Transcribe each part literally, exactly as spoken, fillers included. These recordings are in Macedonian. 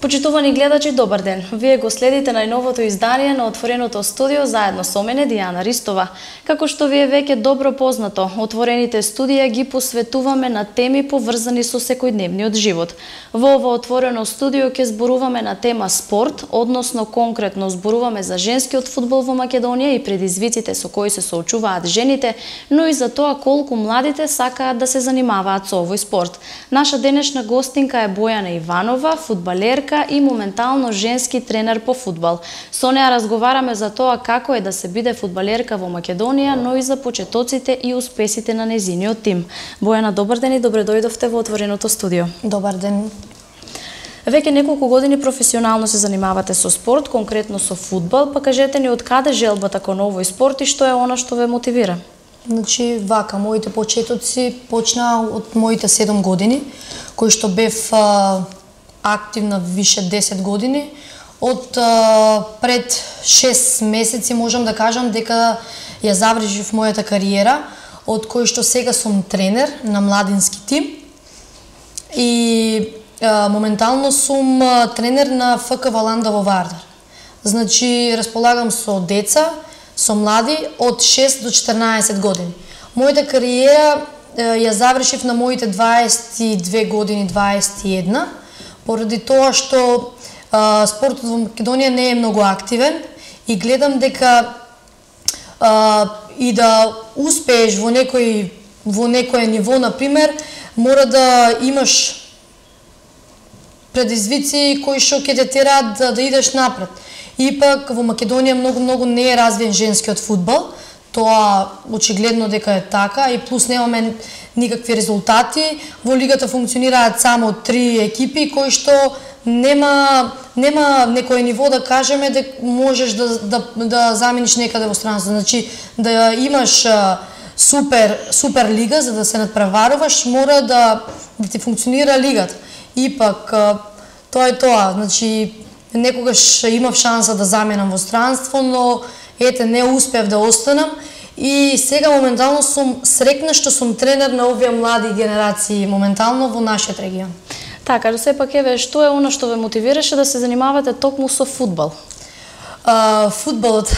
Почитувани гледачи, добар ден. Вие го следите најновото издание на Отвореното студио заедно со мене Дијана Ристова. Како што ви е веќе добро познато, Отворените студија ги посветуваме на теми поврзани со секојдневниот живот. Во ова Отворено студио ќе зборуваме на тема спорт, односно конкретно зборуваме за женскиот фудбал во Македонија и предизвиците со кои се соочуваат жените, но и за тоа колку младите сакаат да се занимаваат со овој спорт. Наша денешна гостинка е Бојана Иванова, фудбалерка и моментално женски тренер по фудбал. Со неа разговараме за тоа како е да се биде фудбалерка во Македонија, но и за почетоците и успесите на нејзиниот тим. Бојана, добар ден и добре дојдовте во Отвореното студио. Добар ден. Веќе неколку години професионално се занимавате со спорт, конкретно со фудбал, па кажете ни од каде желбата кон овој спорт и што е она што ве мотивира? Значи, вака, моите почетоци почнаа од моите седум години, кои што бев а, активна више десет години. Од а, пред шест месеци можам да кажам дека ја завршив мојата кариера, од кој што сега сум тренер на младински тим и а, моментално сум а, тренер на Ф К Валанда во Вардар. Значи, располагам со деца, со млади од шест до четрнаесет години. Мојата кариера ја завршив на моите дваесет и две години, дваесет и една, поради тоа што а, спортот во Македонија не е многу активен и гледам дека а, и да успееш во некој во некое ниво, на пример, мора да имаш предизвици кои што ќе те тераат да, да идеш напред. Ипак во Македонија многу многу не е развиен женскиот фудбал. Тоа очигледно дека е така и плюс немаме никакви резултати. Во лигата функционираат само три екипи кои што нема нема некој ниво да кажеме дека можеш да да да замениш некаде во странство. Значи да имаш а, супер супер лига за да се надпреваруваш, мора да да ти функционира лигата. Ипак а, тоа е тоа. Значи некогаш имав шанса да заменам во странство, но ете не успев да останам и сега моментално сум срекна што сум тренер на овие млади генерации моментално во нашиот регион. Така, да сепак еве, што е она што ве мотивираше да се занимавате токму со фудбал? А, фудбалот,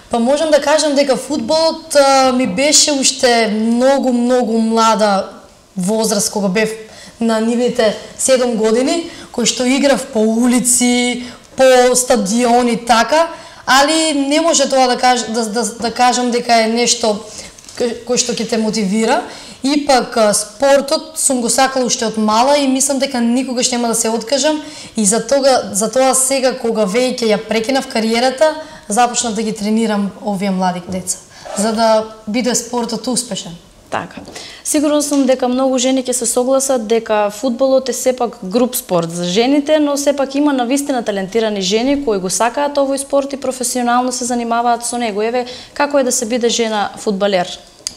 па можам да кажам дека фудбалот а, ми беше уште многу многу млада возраст кога бев на нивните седум години, кој што играв по улици, по стадиони, така, али не може тоа да, каж, да, да, да кажам дека е нешто кој што ќе те мотивира. Ипак спортот сум го сакала уште од мала и мислам дека никогаш нема да се откажам и за тоа, за тоа сега кога веќе ја прекинав кариерата, започнав да ги тренирам овие млади деца, за да биде спортот успешен. Така. Сигурно сум дека многу жени ќе се согласат дека фудбалот е сепак груп спорт за жените, но сепак има навистина талентирани жени кои го сакаат овој спорт и професионално се занимаваат со него. Еве, како е да се биде жена фудбалер?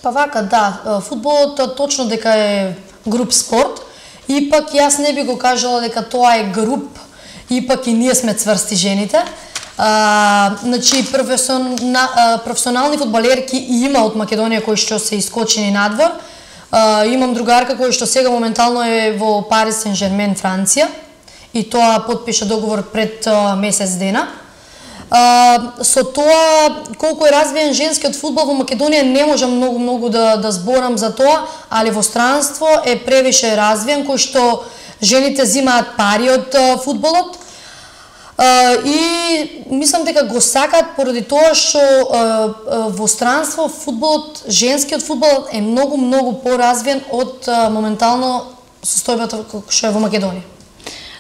Па вака, да, фудбалот точно дека е груп спорт, ипак јас не би го кажала дека тоа е груп, ипак и ние сме цврсти жените. А, значи, професионал, професионални фудбалерки има од Македонија кои што се искочени надвор. А, имам другарка која што сега моментално е во Парис Сен-Жермен, Франција, и тоа потпиша договор пред а, месец дена. А, со тоа, колку е развиен женскиот фудбал во Македонија, не можам многу многу да, да зборам за тоа, али во странство е превише развиен, кој што жените зимаат пари од а, фудбалот. Uh, и мислам дека го сакаат поради тоа што uh, uh, во странство фудбалот, женскиот фудбал е многу многу поразвиен од uh, моментално состојбата што е во Македонија.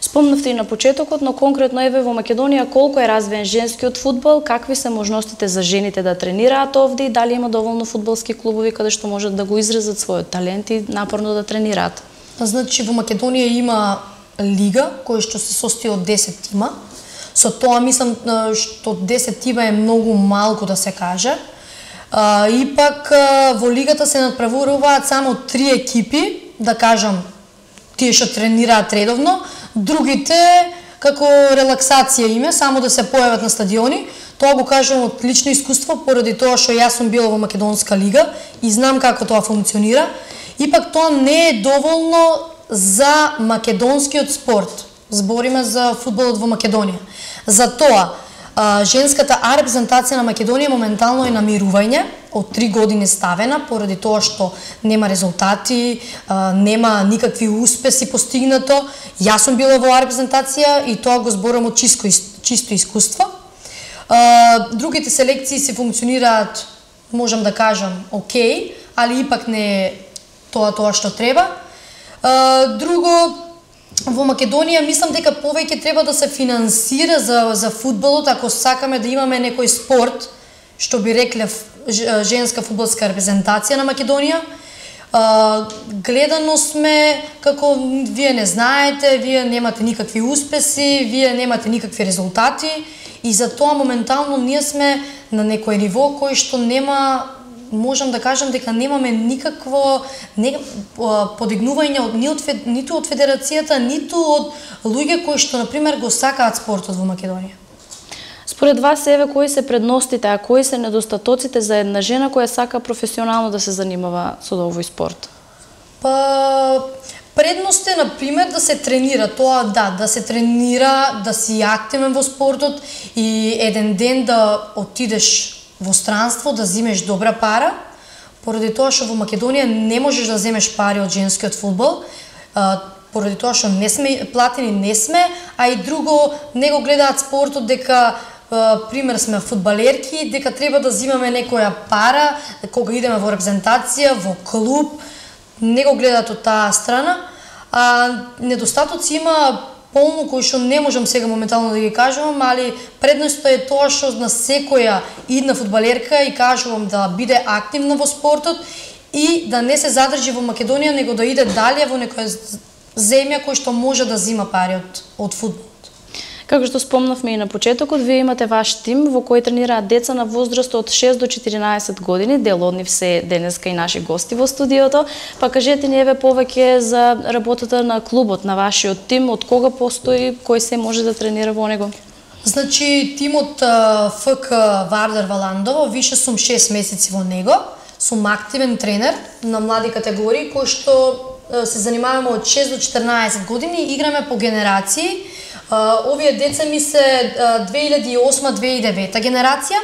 Спомнавте и на почетокот, но конкретно еве во Македонија колку е развиен женскиот фудбал, какви се можностите за жените да тренираат овде и дали има доволно фудбалски клубови каде што можат да го изразат својот талент и напорно да тренираат? Значи во Македонија има лига која што се состои од десет тима. Со тоа мислам што десет тима е многу малку да се каже. А, ипак во лигата се надпреваруваат само три екипи, да кажам, тие што тренираат редовно, другите како релаксација име, само да се појават на стадиони. Тоа го кажам од лично искуство, поради тоа што јас сум била во Македонска лига и знам како тоа функционира. Ипак тоа не е доволно за македонскиот спорт. збориме за фудбалот во Македонија. Затоа, женската А репрезентација на Македонија моментално е на мирување, од три години ставена, поради тоа што нема резултати, нема никакви успеси постигнато. Јас сум била во А репрезентација и тоа го зборам од чисто, чисто искуство. Другите селекции се функционираат, можам да кажам, окей, али ипак не е тоа тоа што треба. Друго, во Македонија мислам дека повеќе треба да се финансира за за фудбалот, ако сакаме да имаме некој спорт, што би рекле женска фудбалска репрезентација на Македонија. Гледано сме како вие не знаете, вие немате никакви успеси, вие немате никакви резултати и затоа моментално ние сме на некој ниво кој што нема, можам да кажам дека немаме никакво не, подигнување од, ни од, ниту од федерацијата, ниту од луѓе кои што, например, го сакаат спортот во Македонија. Според вас, еве, кои се предностите, а кои се недостатоците за една жена која сака професионално да се занимава со овој спорт? Па, предност е, например, да се тренира. Тоа, да, да се тренира, да си активен во спортот и еден ден да отидеш во странство, да земеш добра пара, поради тоа што во Македонија не можеш да земеш пари од женскиот фудбал, поради тоа што не сме платени, не сме, а и друго, не го гледаат спортот дека, пример, сме фудбалерки, дека треба да земаме некоја пара кога идеме во репрезентација, во клуб, не го гледаат од таа страна, а недостатоци има полно кои што не можам сега моментално да ги кажувам, али предноста е тоа што на секоја идна фудбалерка и кажувам да биде активна во спортот и да не се задржи во Македонија, него да иде дале во некоја земја кој што може да зима пари од, од фудбалот. Како што спомнавме и на почетокот, вие имате ваш тим во кој тренираат деца на возраст од шест до четиринаесет години, дел од нив се денеска и наши гости во студиото. Па кажете ни еве повеќе за работата на клубот, на вашиот тим, од кога постои, кој се може да тренира во него? Значи, тимот Ф К Вардар Валандово, више сум шест месеци во него, сум активен тренер на млади категории, кој што се занимаваме од шест до четиринаесет години, играме по генерации. Овие деца ми се две илјади и осма - две илјади и девета генерација.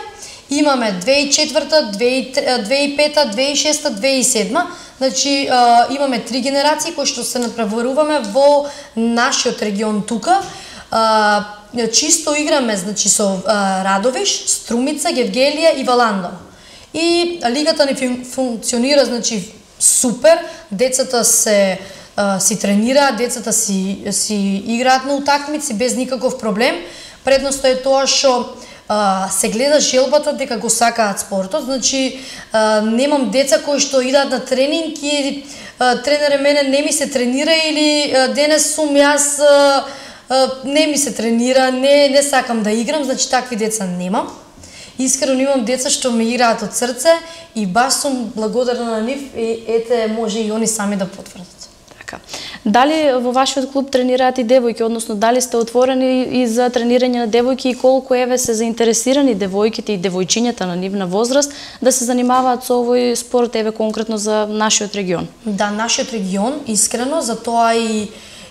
Имаме две илјади и четврта, две илјади и пета, две илјади и шеста, две илјади и седма. Значи имаме три генерации кои што се надпреваруваме во нашиот регион тука. Чисто играме, значи, со Радовиш, Струмица, Гевгелија и Валандово. И лигата ни функционира, значи, супер. Децата се си тренираат, децата си си играат на утакмици без никаков проблем. Предноста е тоа што се гледа желбата дека го сакаат спортот. Значи немам деца кои што идат на тренинг и тренере мене не ми се тренира или денес сум јас не ми се тренира, не не сакам да играм, значи такви деца немам. Искрено имам деца што ме играат од срце и баш сум благодарна на нив и ете може и они сами да потврдат. Дали во вашиот клуб тренираат и девојки, односно дали сте отворени и за тренирање на девојки и колку еве се заинтересирани девојките и девојчињата на нивна возраст да се занимаваат со овој спорт, еве конкретно за нашиот регион? Да, нашиот регион, искрено, затоа и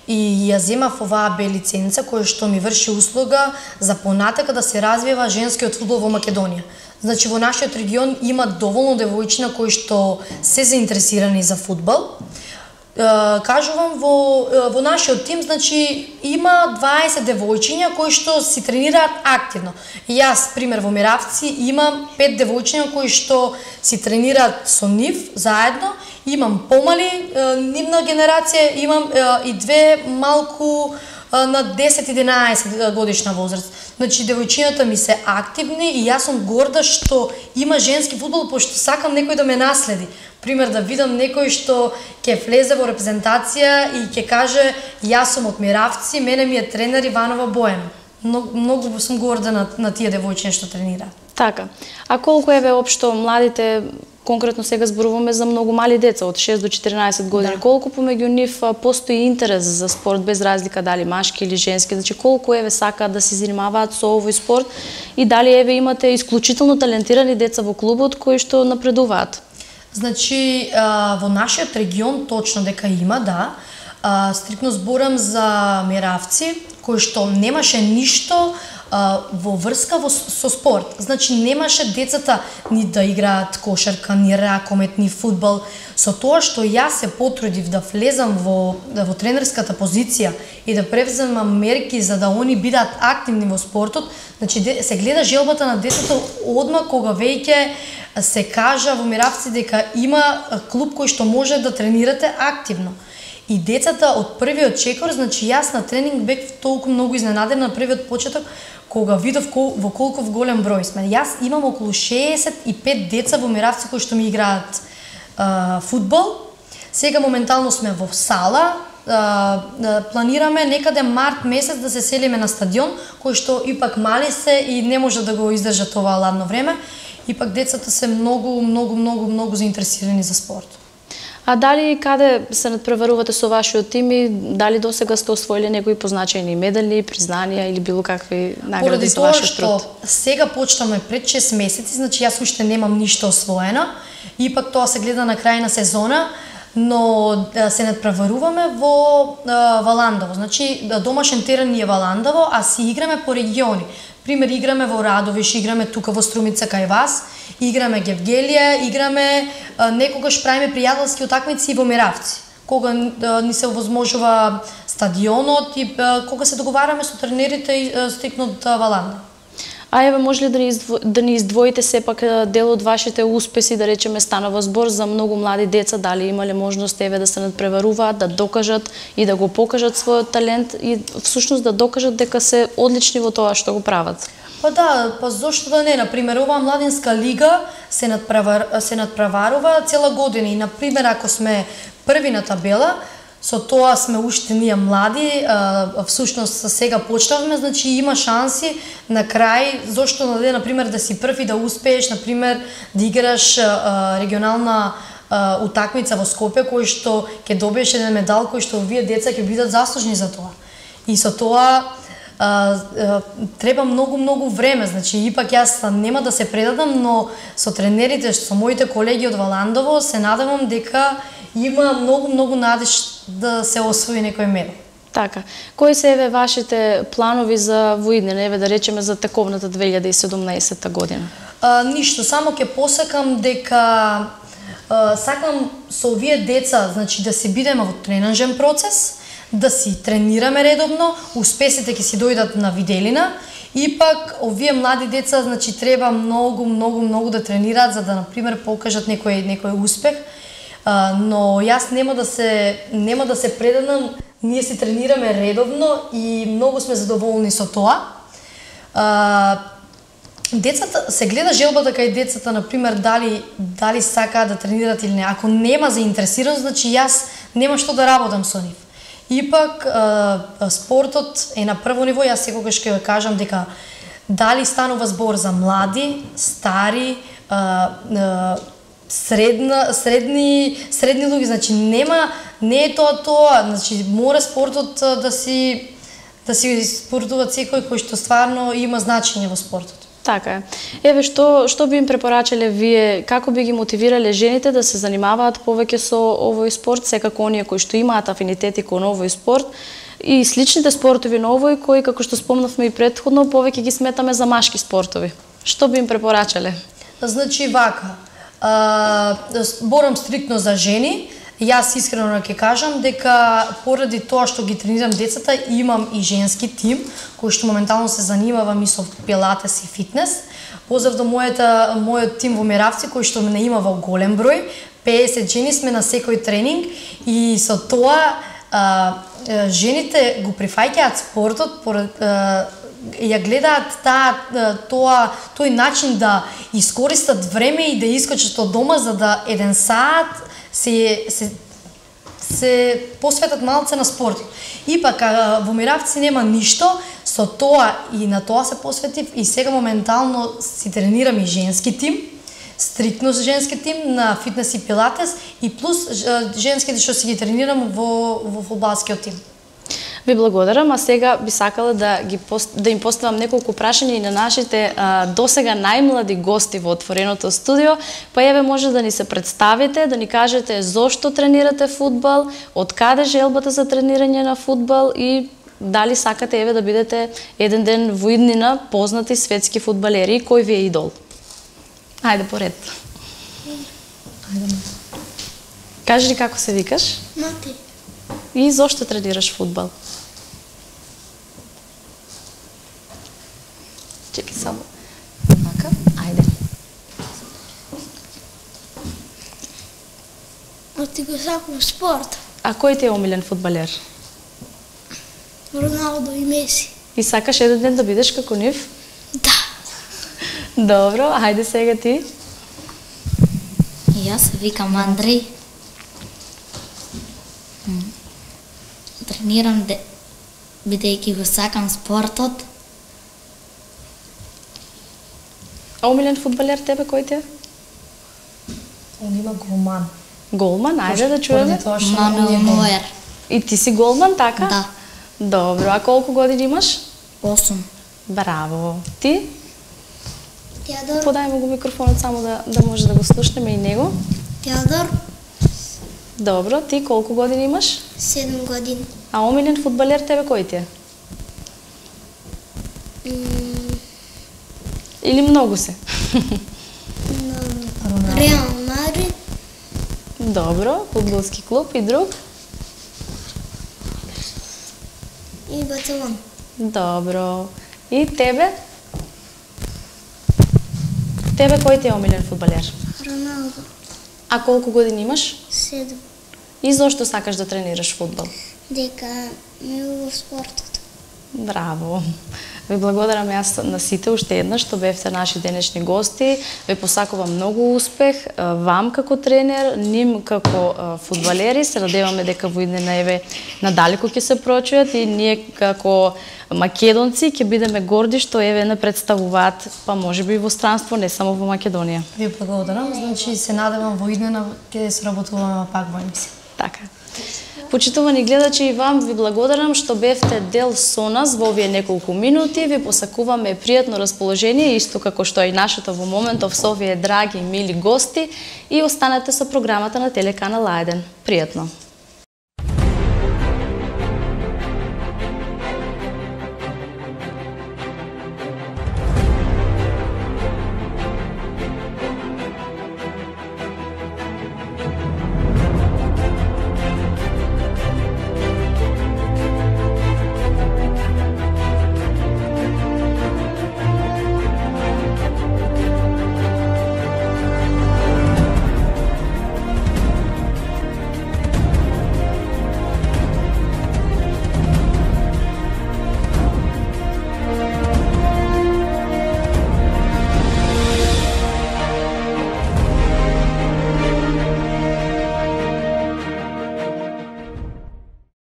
и ја земав оваа Б лиценца која што ми врши услуга за понатака да се развива женскиот фудбал во Македонија. Значи во нашиот регион има доволно девојчина кои што се заинтересирани за фудбал. Кажувам, во, во нашиот тим, значи, има дваесет девојчиња кои што си тренираат активно. Јас, пример, во Миравци имам пет девојчиња кои што си тренираат со нив заедно. Имам помали нивна генерација, имам и две малку на десет единаесет годишна возраст. Значи, девојчињата ми се активни и јас сум горда што има женски фудбал, пошто сакам некој да ме наследи. Пример, да видам некој што ќе влезе во репрезентација и ќе каже јас сум од Миравци, мене ми е тренер Иванова Бојана. Многу, многу сум горда на, на тие девојчиња што тренираат. Така. А колку еве општо младите, конкретно сега зборуваме за многу мали деца од шест до четиринаесет години, да. Колку помеѓу нив постои интерес за спорт без разлика дали машки или женски, значи колку еве сакаат да се занимаваат со овој спорт и дали еве имате исклучително талентирани деца во клубот кои што напредуваат? Значи во нашиот регион точно дека има, да. а, стрикно зборам за меравци, кои што немаше ништо а, во врска во, со спорт. Значи немаше децата ни да играат кошарка, ни ракомет, ни фудбал. Со тоа што јас се потрудив да влезам во, во тренерската позиција и да превземам мерки за да они бидат активни во спортот, значи се гледа желбата на децата одма кога веќе се кажа во Миравци дека има клуб кој што може да тренирате активно. И децата од првиот чекор, значи јас на тренинг бев толку многу изненадена на првиот почеток кога видов во колку голем број сме. Јас имам околу шеесет и пет деца во Миравци кои што ми играат Uh, фудбал. Сега моментално сме во сала, uh, uh, планираме некаде март месец да се селиме на стадион, кој што ипак мали се и не може да го издржат ова ладно време. Ипак децата се многу, многу, многу, многу заинтересирани за спорт. А дали и каде се надпреварувате со вашиот тим и дали досега сте освоили некои позначени медали, признанија или било какви награди за вашиот труд? Поради тоа што сега почнаме пред шест месеци, значи јас уште немам ништо освоено. Ипак тоа се гледа на крај на сезона, но се надпреваруваме во Валандово. Значи домашен терен ни е Валандово, а си играме по региони. Пример, играме во Радовиш, играме тука во Струмица кај вас, играме Гевгелија, играме некогаш правиме пријателски утакмици во Миравци. Кога ни се овозможува стадионот и кога се договараме со тренерите и стрикно од Валандово. А еве, може ли да ни, издво, да ни издвоите сепак дел од вашите успеси, да речеме станува збор за многу млади деца, дали имале можност еве да се надпреваруваат, да докажат и да го покажат својот талент и всушност да докажат дека се одлични во тоа што го прават? Па да, па зошто да не, например, оваа младинска лига се надпревар, се надпреварува цела година и например ако сме први на табела, со тоа сме уште ние млади, а, всушност сега почнавме, значи има шанси на крај, зошто да на пример да си прв и да успееш, например да играш а, регионална а, утакмица во Скопје кој што ќе добиеш еден медал кој што овие деца ќе бидат заслужни за тоа. И со тоа а, а, треба многу многу време, значи ипак јас нема да се предадам, но со тренерите, со моите колеги од Валандово се надевам дека има многу многу надеж да се освои некој медал. Така. Кои се еве вашите планови за воиднина, еве да речеме за тековната две илјади и седумнаесетта година? А, ништо, само ќе посакам дека а, сакам со овие деца, значи да се бидеме во тренажен процес, да си тренираме редовно, успесите ќе си дојдат на виделина. Ипак овие млади деца, значи треба многу многу многу да тренираат за да на пример покажат некој некој успех. Uh, но јас нема да се нема да се предадам, ние се тренираме редовно и многу сме задоволни со тоа. Uh, децата се гледа желбата кај децата, на пример, дали дали сакаат да тренираат или не. Ако нема заинтересираност, значи јас нема што да работам со нив. Ипак uh, спортот е на прво ниво, јас секогаш ќе кажам дека дали станува збор за млади, стари, uh, uh, средна средни средни луѓе, значи нема не е тоа тоа, значи мора спортот да си да си спортува секој кој што стварно има значење во спортот. Така е. Еве што што би им препорачале вие, како би ги мотивирале жените да се занимаваат повеќе со овој спорт, секако оние кои што имаат афинитети кон овој спорт и сличните спортови на овој кои, како што спомнавме и претходно, повеќе ги сметаме за машки спортови. Што би им препорачале? Значи вака, Uh, борам стриктно за жени. Јас искрено ќе кажам дека поради тоа што ги тренирам децата, имам и женски тим кој што моментално се занимава и со пилатес и фитнес. Поздрав до мојата мојот тим во Миравци кој што мене има во голем број, пеесет жени сме на секој тренинг и со тоа uh, жените го прифаќаат спортот поред uh, ја гледаат таа тоа тој начин да искористат време и да искочат од дома за да еден саат се се се посветат малце на спорт. Ипак во Миравци нема ништо, со тоа и на тоа се посветив и сега моментално си тренирам и женски тим, стриктно женски тим на фитнес и пилатес и плюс женските што си ги тренирам во во фудбалскиот тим. Ви благодарам, а сега би сакала да ги пост... да им поставам неколку прашања и на нашите а, досега најмлади гости во отвореното студио. Па еве може да ни се представите, да ни кажете зошто тренирате фудбал, од каде желбата за тренирање на фудбал и дали сакате еве да бидете еден ден во иднина познати светски фудбалери, кој ви е идол? Ајде поред. Ајде. Кажи ни како се викаш? Мати. И зошто тренираш фудбал? Чекай само. Така, ајде. А ти го сакам спорт. А кој ти е омилен фудбалер? Роналдо и Меси. И сакаш еден ден да бидеш како нив? Да. Добро, ајде сега ти. И јас се викам Андреј. Тренирам де... бидејќи го сакам спортот. А омилен фудбалер тебе кој ти е? Он има голман. Голман, ајде да чуеме. Мануел Ноер. И ти си голман, така? Да. Добро, а колку години имаш? осум. Браво. Ти? Теодор. Подај му го микрофонот само да, да може да го слушнеме и него. Теодор. Добро, ти колку години имаш? седум години. А омилен фудбалер тебе кој ти е? М, Или многу се? на Реал Мадрид. Добро, фудбалски клуб и друг? И Барселона. Добро. И тебе? Тебе кој ти е омилен фудбалер? Роналдо. А колку години имаш? седум. И зошто сакаш да тренираш фудбал? Дека ме убав спортот. Браво! Ви благодарам јас на сите уште еднаш што бевте наши денешни гости. Ви посакувам многу успех вам како тренер, ним како фудбалери. Се надеваме дека во иднина еве надалеку ќе се прочујат и ние како македонци ќе бидеме горди што еве не представуваат, па можеби и во странство, не само во Македонија. Ви благодарам, значи се надевам во иднина ќе соработуваме пак во емисија. Така. Почитувани гледачи, и вам ви благодарам што бевте дел со нас во овие неколку минути. Ви посакуваме пријатно расположение, исто како што и нашето во моментов со овие драги и мили гости, и останете со програмата на телеканал А еден. Пријатно!